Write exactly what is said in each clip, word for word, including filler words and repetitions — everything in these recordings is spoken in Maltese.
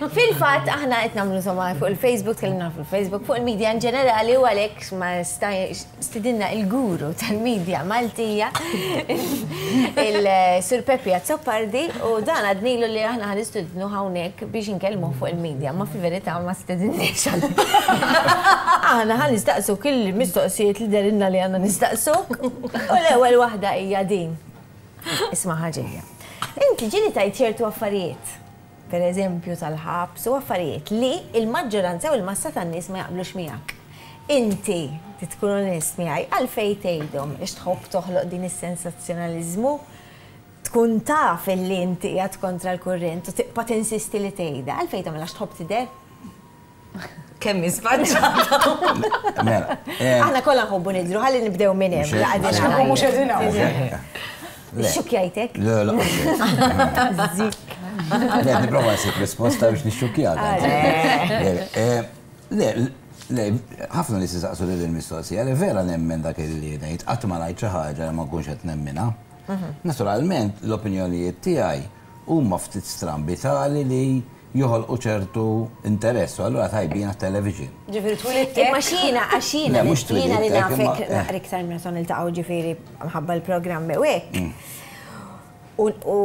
Fil-fatt aħna qed nagħmlu, insomma, fuq il-Facebook, tkellimna fuq il-Facebook, fuq il-media in ġenerali, u għalhekk ma stidinna il-guru tal-media Maltija, il-Sur Peppi Azzopardi, u dan għednilu li aħna ħa nistidnu hawnhekk biex inkellmu fuq il-media, ma fil-verità ma stidinniex. Aħna ħa nistaqsu kull mistoqsijiet li dehrilna li għandna nistaqsu, u l-ewwel waħda hija din. Isma' ħaġejja. Inti ġieli tgħid ċertu affarijiet, per eżempju tal-ħabs u affarijiet li il-maġġoranza u l-massa tan-nies ma jaqblux miegħek. Inti tkun onest miegħi, għalfejn tgħidhom? Ix tħobb toħloq din is-sensazzjonaliżmu? Tkun taf li inti qiegħed kontra l-kurrent u tibqa' tinsisti li tgħidha. Għalfejn tagħmel? Għax tħobb tidher? Kemm isfaċċata. Mela, eh, Aħna kollha nħobbu nidru, ħalli nibdew minn hemm. Mhux hekk. La Mhux qegħdin hawn. Le. Xukjajtek? Le, le, Zik. Le, nipprova nsib risposta biex nixxukjak. Le, le, le, ħafna li saqsu li l-mistoqsija, li vera nemmen dak li ngħid, qatt ma ngħid xi ħaġa li ma nkunx qed nemminha. Naturalment, l-opinjonijiet tiegħi huma ftit strambi tali li joħolqu ċertu interess, u allura tajbin għat-television. Ġifieri twilidtek. Imma xina, għax jiena Le, mhux jiena li twilidtek, nafek imma- eh. naqra iktar meta niltaqgħu, ġifieri mħabba l-programmi u hekk. U u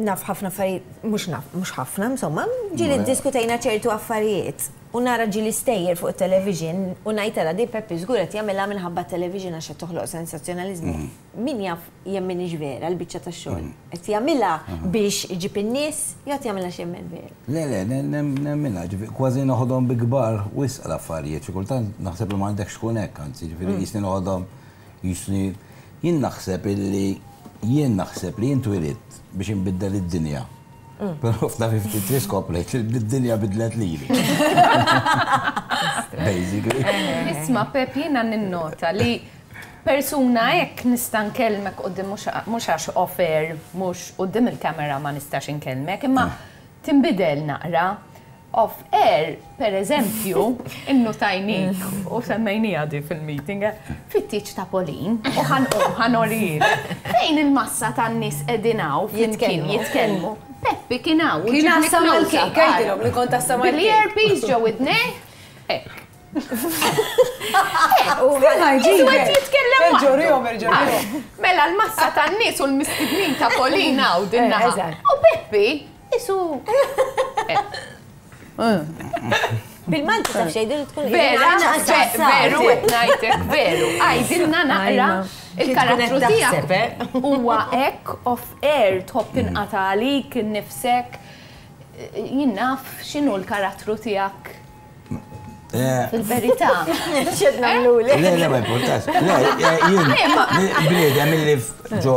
naf ħafna affarijiet, mhux naf, mhux ħafna, insomma, ġieli diskutejna ċertu affarijiet. U nara ġieli stejjer fuq television u ngħid, "Ara di Peppi żgur qed jagħmilha minħabba television għax qed toħloq sensazzjonaliżmu." Min jaf jemminix vera l-biċċa tax-xogħol. Qed jagħmilha biex iġib in-nies jew qed jagħmilha x'jemmen vera? Le, le, nemminha, ġifieri, kważi noħodhom bi kbar wisq l-affarijiet, xi kultant naħseb li m'għandekx tkun hekk, anzi, ġifieri jisni noħodhom jisni jien naħseb illi jien naħseb li jien twilidt biex inbiddel id-dinja. Però f'ta' ħamsa u ħamsin skoprejt li d-dinja bidlet lili. Basically. Isma', Pep, jiena ninnota li persuna hekk nista' nkellmek quddiem, mhux għax off-air, mhux quddiem il-kamera ma nistax inkellmek, imma tinbidel naqra. Off-air, per eżempju, innutajnik u semmejnija di fil-meeting, fit-tieġ ta' Pauline, u ħa nurik, fejn il-massa tan-nies qegħdin hawn flimkien Jitkellmu. Jitkellmu. Peppi kien hawn. u Kien ġibni għassam close-up, mal-kejk, għidilhom li kont għassam mal-kejk. Bil-earpiece ġo widnejh. Hekk. Ġisu qed jitkellem waħdu. Erġorihom, erġorihom. Mela l-massa tan-nies u l-mistednin ta' Pauline u din naħa. Eżatt. U Peppi, isu. Bil-Malti taf xejdu li tkun Vera, veru, qed ngħidlek, veru. Għidilna naqra il-karattru tiegħek. Huwa hekk off air, tħobb tinqata' għalik innifsek? Jien naf x'inhu l-karattru tiegħek Eh, fil-verità. Xed nagħmluli. Le, le, ma importax. Le, eh, jien bniedem illi ġo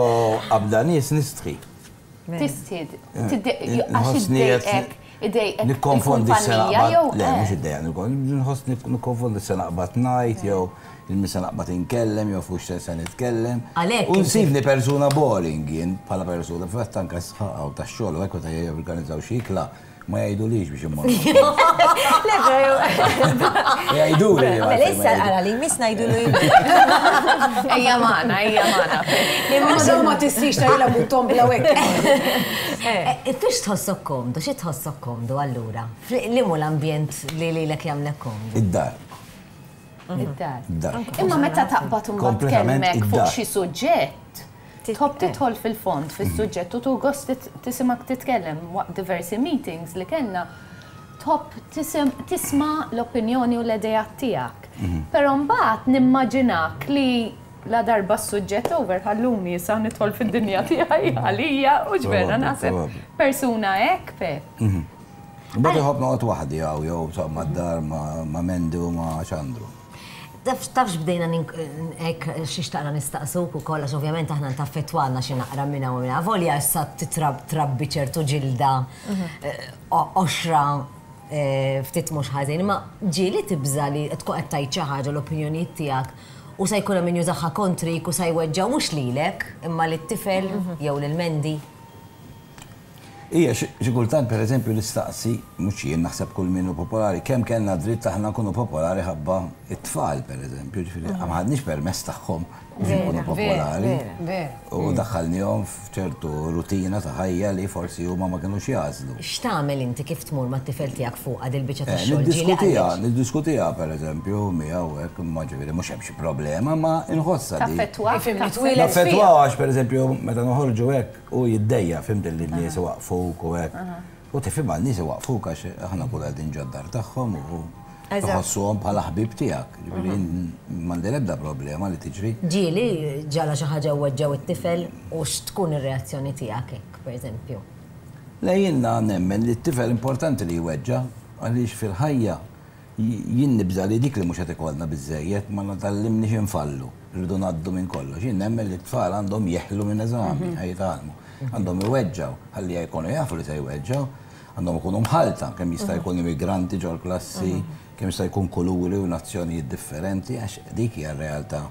qabda nies nistħi. Tistid, għax Nħossni qed iddejqek, idejqek Nikkonfondi s-sena il-kumpanija jew Le, mhux iddejjaq, nħoss nikkonfondi s-sena qbad ngħid jew il-misa naqbad inkellem jew fuq se nitkellem. Għalhekk U nsibni persuna boring jien bħala persuna, fatt anke sħaqaw tax-xogħol u hekk meta jorganizzaw xi ikla ma jgħidulix biex immorru. Le, pero. Jgħiduli li Mela issa ara li miss ngħidulu. Ejja magħna, ejja magħna. Imma daw ma tistix tajla button bla hekk. Eh, Fiex tħossok komdu, xi tħossok komdu allura? Limu l-ambjent li lilek jagħmlek komdu? Id-dar. Id-dar. Id-dar. Imma meta taqbad imbagħad Kompletament tkellmek fuq id-dar. xi suġġett, tħobb tidħol fil-fond fis-suġġett u tu gost tisimak titkellem waqt diversi meetings li kellna, tħobb tisim- tisma' l-opinjoni u l-idejat tiegħek. Però mbagħad nimmaġinak li la darba s-suġġett over, ħalluni issa nidħol fid-dinja tiegħi għalija u ġvera Probabbli, naħseb probabbli. persuna hekk, Pep. Mbagħad iħobb noqgħod waħdi hawn jew insomma d-dar ma' ma' Mendy u ma' Xandru. Taf tafx bdejna hekk xi xtaqna nistaqsuk ukoll, għax ovvjament aħna taffettwana xi naqra minna u minna. Volja issa titrab trabbi ċertu ġilda eh, o- oxra eh, ftit mhux ħażin, imma ġieli tibża li tkun qed tgħid xi ħaġa, l-opinjonijiet tiegħek, u se jkun hemm min jużaha kontrik u se jweġġaw mhux lilek imma lit-tifel jew lil Mendy? Ija, xi kultant per eżempju nistaqsi, mhux jien naħseb kull min hu popolari, kemm kellna dritt aħna nkunu popolari ħabba it-tfal per eżempju, ġifieri ma ħadniex permess tagħhom biex nkunu popolari. U daħħalnihom f'ċertu rutina ta' ħajja li forsi huma ma kinux jagħżlu. X'tagħmel inti kif tmur mat-tifel tiegħek fuq għad il-biċċa Eh, tax-xogħol? Ġieli Niddiskutiha, għaliex? niddiskutia per eżempju miegħu hekk, ma ġifieri mhux hemm xi problema, ma inħossha di. Taffettwa. Ifhimni, taffettwa. twieled Naffettwa għax per eżempju meta noħorġu hekk u jiddejjaq fhimt li n-nies waqfuk u hekk. U tifhem għal nies waqfuk għax aħna kull qegħdin ġod-dar tagħhom u Eżatt. tħossuhom bħala ħbib tiegħek. Ġifieri m'għandi l-ebda problema li tiġri. Ġieli ġara xi ħaġa weġġgħu it-tifel u x'tkun ir-reazzjoni tiegħek hekk, per eżempju. Le jiena nemmen li t-tifel importanti li jweġġa għaliex fil-ħajja jien nibża li dik li mhux qed ikollna biżejjed ma nitgħallimniex infallu, rridu ngħaddu minn kollox. Jien nemmen li t-tfal għandhom jeħlu minn eżami, ħa jitgħallmu. Għandhom iweġġaw, ħalli jkunu jafu li se jweġġaw, għandhom ikunu mħalta, kemm jista' jkun immigranti ġol klassi, kemm jista' jkun kuluri u nazzjonijiet differenti, għax dik hija r-realtà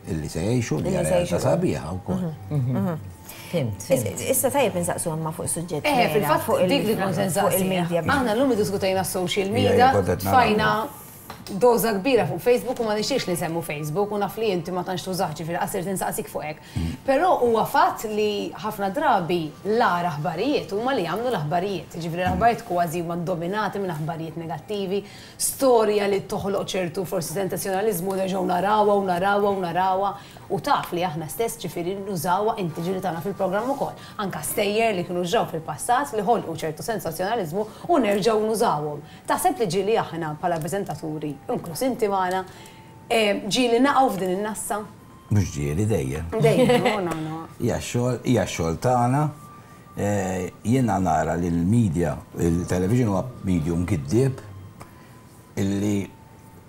illi se jgħixu, li hija Illi se realtà jgħixu. sabiħa wkoll. Fhimt, fhimt. Issa tajjeb insaqsu ma fuq suġġett. Eh, vera, fil-fatt fuq il- dik li kont fuq insaqsi. il-media. Aħna llum iddiskutejna social Ija, media, ija, kont qed nara. tfajna doża kbira fuq Facebook u ma nixtiex li nsemmu Facebook u naf li inti ma tantx tużax ġifieri qasir tinsaqsik fuq hekk. Però huwa fatt li ħafna drabi l-agħar aħbarijiet huma li jagħmlu l-aħbarijiet. Ġifieri l-aħbarijiet kważi huma dominati minn aħbarijiet negattivi, storja li toħloq ċertu forsi sensazzjonaliżmu nerġgħu narawha u narawha u narawha u taf li aħna stess ġifieri nużawha inti ġieli tagħna fil-programm ukoll. Anka stejjer li kienu ġraw fil-passat li ħolqu ċertu sensazzjonaliżmu u nerġgħu nużawhom. Taħseb li ġieli aħna bħala preżentaturi, inkluż inti magħna, eh, ġieli naqgħu f'din in-nassa? Mhux ġieli dejjem. Dejjem, no, no, no. Hija x-xogħol, hija x-xogħol tagħna. Eh, Jiena nara li l-media, il-television huwa medium giddieb illi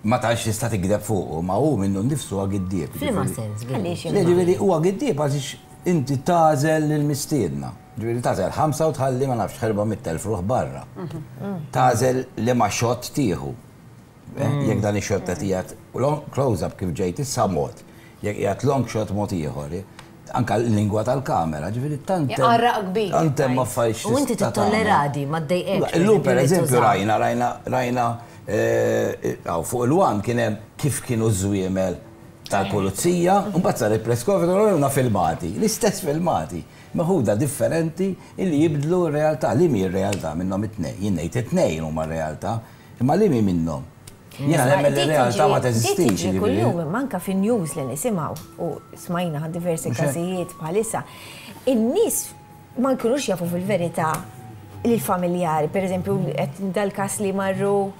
ma tantx tista' tikdeb fuqu, ma hu minnu nnifsu huwa giddieb. F'liema Ġifieri- sens, Għaliex Le, ġifieri huwa giddieb għaliex inti tagħżel lill-mistiedna. Ġifieri tagħżel ħamsa u tħalli ma nafx ħerba mitt elf ruħ barra. Tagħżel li ma shot tieħu. Eh, Jekk dan ix-shot qed qiegħed long- close-up kif ġejt issa mod, jekk qiegħed long shot mod ieħor. eh, Anka l-lingwa tal-kamera, ġifieri tant hemm- Jaqarraq kbir, Tant hemm right. affarijiet U inti tista' tagħmel. tittollera di, ma ddejqekx. Illum per li eżempju tuża. rajna, rajna, rajna, eh, għaw, fuq il-One kien hemm kif kienu żwiemel tal-pulizija, u mbagħad sar il-press conference u filmati, l-istess filmati, meħuda differenti illi jibdlu r-realtà, li mi r-realtà minnhom it-tnejn, jien ngħid it-tnejn huma r-realtà, imma li mi minnhom. Jiena nemmen li r-realtà ma teżistix. Tiġri ġifieri. kuljum, manka fin news li nisimgħu u smajna għad diversi Mhux hekk. każijiet bħalissa. In-nies ma jkunux jafu fil-verità l-familjari, per eżempju, qed dal-kas li marru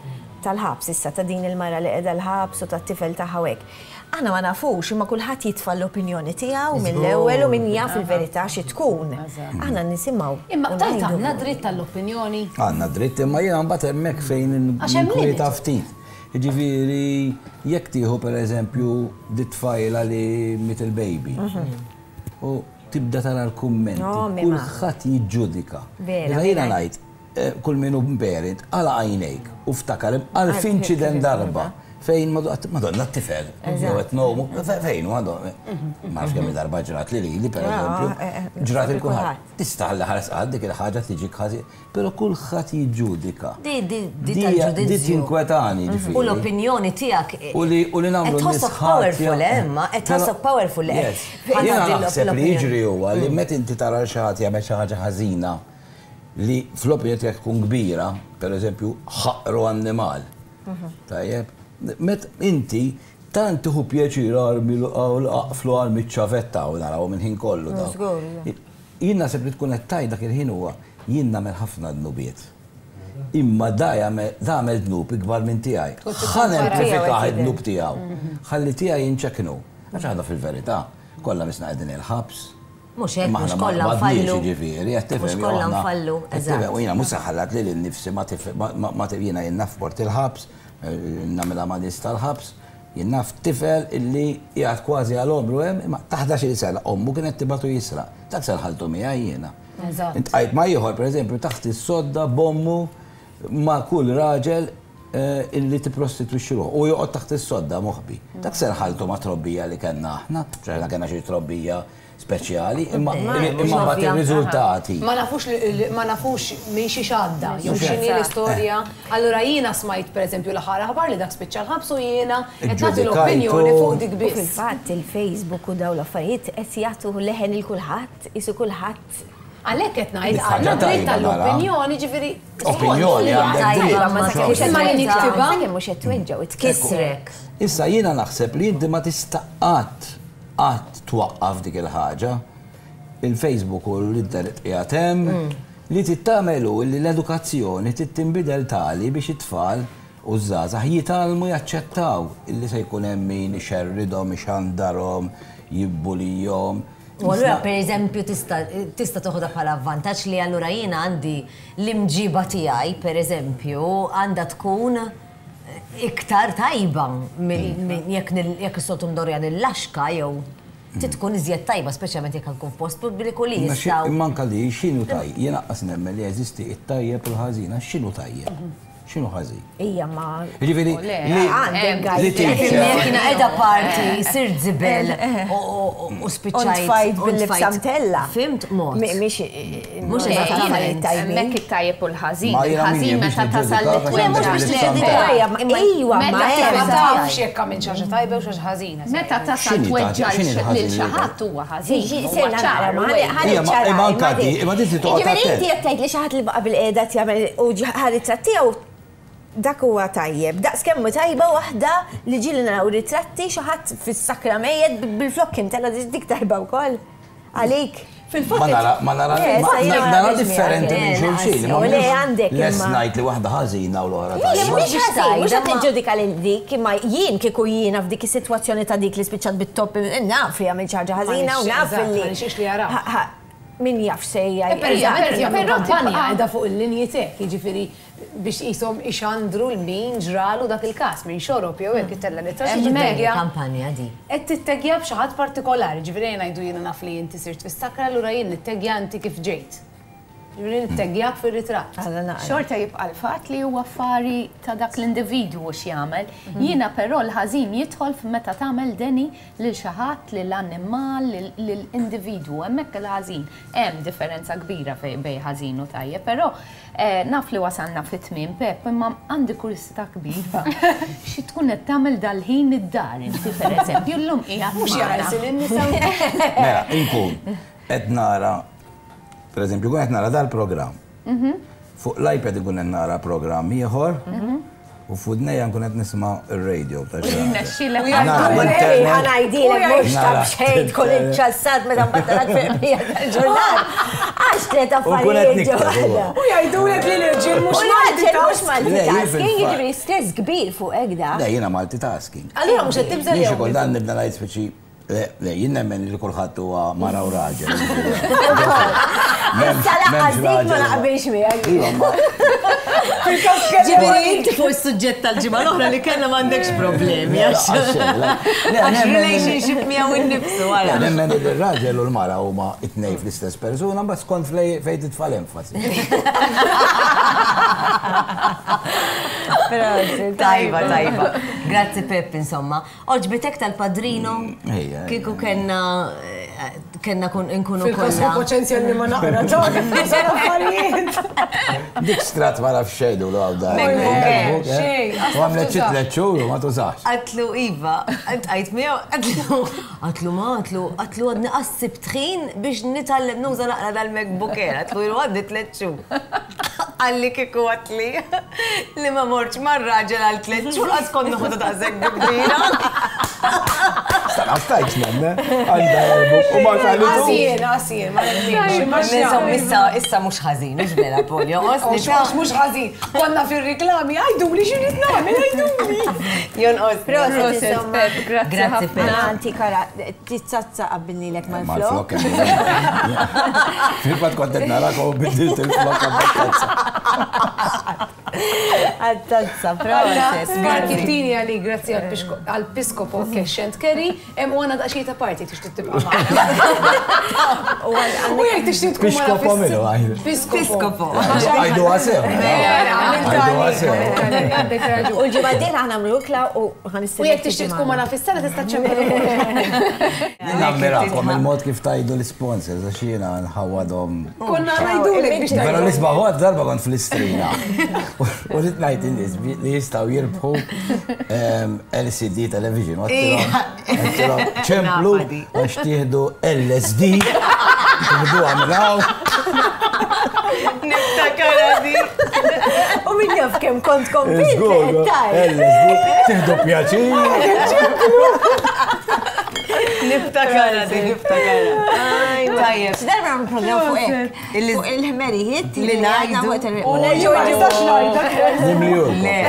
tal-ħabs issa ta' din il-mara li qiegħda l-ħabs u tat-tifel tagħha hekk. Aħna ma nafux imma kulħadd jitfa' l-opinjoni tiegħu mill-ewwel u min jaf il-verità xi tkun. Aħna nisimgħu. Imma u tajt ngħidu. għandna dritt tal-opinjoni. Għandna dritt imma jiena mbagħad hemmhekk fejn Għax hemm inkwieta limit. ftit. Ġifieri, jekk tieħu per eżempju dit tfajla li miet il-baby. U tibda tara l-kummenti, No, mima. kulħadd jiġġudika. Vera, Meta jiena vera. ngħid eh, kull min hu parent għala għajnejk u ftakar għal inċident darba fejn madonna t-tifel, jew qed nomu, fejn u għandhom. Ma nafx kemm darba ġrat li lili per eżempju, eh, eh, ġrat il kulħadd. kulħadd. Tista' ħalli ħares għad dik il-ħaġa tiġi ħażin, però kulħadd jiġġudika. Di, di, di Di tal-ġudizzju. di tinkwetani ġifieri. U l-opinjoni tiegħek. U li u li nagħmlu Qed tħossok powerful, eh, imma, qed tħossok powerful. eh. Yes. Ħa Jiena tgħaddi naħseb li l-opinjoni. jiġri huwa li meta inti tara xi ħadd jagħmel xi ħaġa ħażina li fl-opinjoni tiegħek tkun kbira, per eżempju, ħaqru annimal. Tajjeb, met inti tant tieħu pjaċir armi aqflu armi ċavetta u naraw minn ħin kollu daw. Żgur, Jien naħseb li tkun qed tgħid dak il-ħin huwa jien nagħmel ħafna dnubiet. Imma da jagħmel da għamel dnub ikbar minn tiegħi. Ħa nemplifikah id-dnub tiegħu. Ħalli tiegħi jinċeknu. Għax aħna fil-verità, kollha misna qegħdin il-ħabs. Mhux hekk, Imma mhux aħna ma kollha qbadniex, nfallu. jiġifieri, qed tifhem, Mhux kollha aħna- nfallu, qed tifhem, eżatt. U jiena mhux saħallat li l-nifsi ma tif- ma- ma ma jiena jien naf port il-ħabs, eh, nagħmilha ma' nies tal-ħabs, jien naf tifel illi qiegħed kważi għal omru hemm, imma ta' ħdax-il sena ommu kienet tibatu jisraq. Dak se nħalltu miegħi jiena. Eżatt. Iltqajt ma' ieħor, pereżempju, taħt is-sodda b'ommu ma' kull raġel eh, illi tipprostitwixxi ruħu u joqgħod taħt is-sodda moħbi. Dak se nħalltu ma' trobbija li kellna aħna, aħna kellna xi trobbija speċjali, imma imma mbagħad ir-riżultati. Ma nafux ma nafux minn xi xadda, jew x'inhi l-istorja. Allura jiena smajt pereżempju l-aħħar aħbar li dak spiċċa l-ħabs u jiena qed nagħti l-opinjoni fuq dik biss. Fil-fatt il-Facebook u dawn l-affarijiet qed jagħtu leħen il kulħadd, isu kulħadd. Għalhekk qed ngħid għandna dritt tal-opinjoni, ġifieri. Opinjoni għandek dritt. Ma li niktibha mhux qed tweġġgħu tkissrek. Issa jiena naħseb li inti ma tista' qatt qatt twaqqaf dik il-ħaġa. Il-Facebook u l-internet qiegħed hemm li tittamelu li l-edukazzjoni tittinbidel tali biex it-tfal u ż-żgħażagħ jitgħallmu jaċċettaw illi se jkun hemm min ixerridhom, ixandarhom, jibbulijhom. U allura per eżempju tista' toħodha bħala avvantaġġ li allura jiena għandi l-imġiba tiegħi per eżempju għandha tkun iktar tajba jekk is-soltu mdorja nill-laxka jew tkun iżjed tajba, speċjalment jekk nkun f'post pubbliku li jistgħu. Imma anke li x'inhu tajjeb, jien aqas nemmen li jeżisti t-tajjeb u l-ħażin, għax x'inhu tajjeb? X'inhu ħażin? Ija ma. Jiġifieri li jiena qiegħda party, sirt żibel u spiċċajt. Tfajt bil-libsa mtella. Fimt mod. Mhix mhux eżattament. Hemmhekk it-tajjeb u l-ħażin. Il-ħażin meta tasal li mhux biex Ejwa, ma ma tafx jekk għamilt xi ħaġa tajba u xi ħaġa ħażina. Meta tasal tweġġa' lil xi ħadd huwa ħażin. Imma anke di, imma di toqgħod. Jiġifieri inti qed tgħid li xi ħadd li baqa' bil-qiegħda jagħmel u ħaritrat tiegħu dak huwa tajjeb. Daqs kemm tajba waħda li ġieli naraw ritratti xi ħadd fis-sakra mejjed bil-flokk imtella dik tajba wkoll. Għalik. Ma nara, ma nara, nara differenti minn xulxin. Le għandek. Les ngħid li waħda ħażina u l-oħra tajba. Mhux ħażin, mhux qed niġġudika lil dik, imma jien kieku jiena f'dik is-sitwazzjoni ta' dik li spiċċat bit-top naf li għamilt xi ħaġa ħażina u naf li. Min jaf sejja. Però kampanja qiegħda fuq il-linji tek, jiġifieri biex qishom ixandru l-min ġralu dak il-każ, min xorob jew hekk itella' li tittegja. Kampanja di. Qed tittegja b'xi ħadd partikolari, ġifieri jien ngħidu jiena naf li inti sirt fis-sakra, allura jien nittegja inti kif ġejt. Ġifieri nittegjak fir-ritratt. Xorta jibqa' l-fatt li huwa affari ta' dak l-individwu x'jagħmel. Jiena però l-ħażin jidħol meta tagħmel deni lil xi ħadd, lill-annimal, lill-individwu. Hemmhekk il-ħażin. Hemm differenza kbira bejn ħażin u tajjeb, però naf li wasalna fit-tmiem Pep, imma għandi kurżità kbira. Xi tkun qed tagħmel dal-ħin id-dar inti pereżempju llum qiegħed. Mhux jara lil in-nisa. Mela, inkun qed nara per eżempju, kun qed nara dal-programm. Fuq l-iPad ikun qed nara programm ieħor u f'udnejja nkun qed nisma' r-radio ta' xi. Ħa ngħidilek mhux ta' b'xejn tkun iċċassat meta mbagħad fil-qbija tal-ġurnal. Għax tliet affarijiet ġo waħda. U jgħidulek li l-irġiel mhux multitasking, jiġifieri stress kbir fuq hekk da. Le, jiena multitasking. Allura mhux qed tibżel jew. Jien xi kultant nibda ngħid speċi Le, jien nemmen li kulħadd huwa mara u raġel. Issa lanqas dik ma naqbilx miegħek. Ġifieri inti fuq is-suġġett tal-ġimgħa l-oħra li kellna m'għandekx problemi għax relationship miegħu innifsu wara. Nemmen li r-raġel u l-mara huma t-tnejn fl-istess persuna, mbagħad skont fejn titfa' l-enfasi. Tajba, tajba. Grazzi Pep, insomma. Oġbitek tal-Padrino? Kieku kellna kellna nkunu kollha. Fil-każ paċenzja li ma naqra affarijiet. Dik strat ma nafx xejn u għaw da. Xejn. U għamlet xi tliet xhur u ma tużax. Qatlu iva, għajt miegħu, qatlu. Qatlu ma qatlu, qatlu għadni qassib tħin biex nitgħallem nuża naqra dal-MacBook Air, qatlu ilu għadni tliet xhur. Qalli kieku għatli li ma mortx mar-raġel għal tliet xhur qatt kont noħodha daqshekk kbira. Sta stajtx nemme, għandha MacBook u ma tgħallitu. Għasien, għasien, ma nemminx. Insomma, issa issa mhux ħażin, mhux vera Polio. Mhux ħażin. Konna fir-riklami, għajduli x'irrid nagħmel, għajduli. Jonqos. Proset, Pep, grazzi ħafna. Anti kara, tizzazza qabbilnilek mal-flok. Fil-fatt kont qed narak u biddilt il-flok għat-tazza. Għat-tazza, proset. Markittini għali, grazzi għal-Piskopo Cash and Carry, u għana daqxie ta' parti tixtieq tibqa' magħna. U jekk tixtieq tkun Piskopo minnu għajdu. Piskopo. Għajdu għasew. sew. Għandek raġun. U l-ġimgħa d-dieħla ħa nagħmlu ikla u ħa U jekk tixtieq tkun magħna fis-sala tista' ċempel. Nammirakom il-mod kif tajdu l-sponsors, għax jiena nħawadhom. Konna ngħidulek biex Però l-isbaħ darba kont fl-Istrina. U rrid ngħid in-nies li jistgħu jirbħu ehm, L C D television. U għedtilhom, ċemplu għax tieħdu L S D, tieħdu għamlaw. Niftakar di. U min jaf kemm kont konvint. Żgur, L S D, tieħdu pjaċir. Niftakar di, niftakar. Tajjeb. Darba għamlu program fuq hekk. Illi- Fuq il-ħmerijiet li ngħidu. U nerġgħu nistax ngħidha. Nimlijulkom. Le,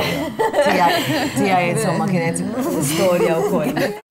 tiegħi, tiegħi, insomma, kienet storja wkoll.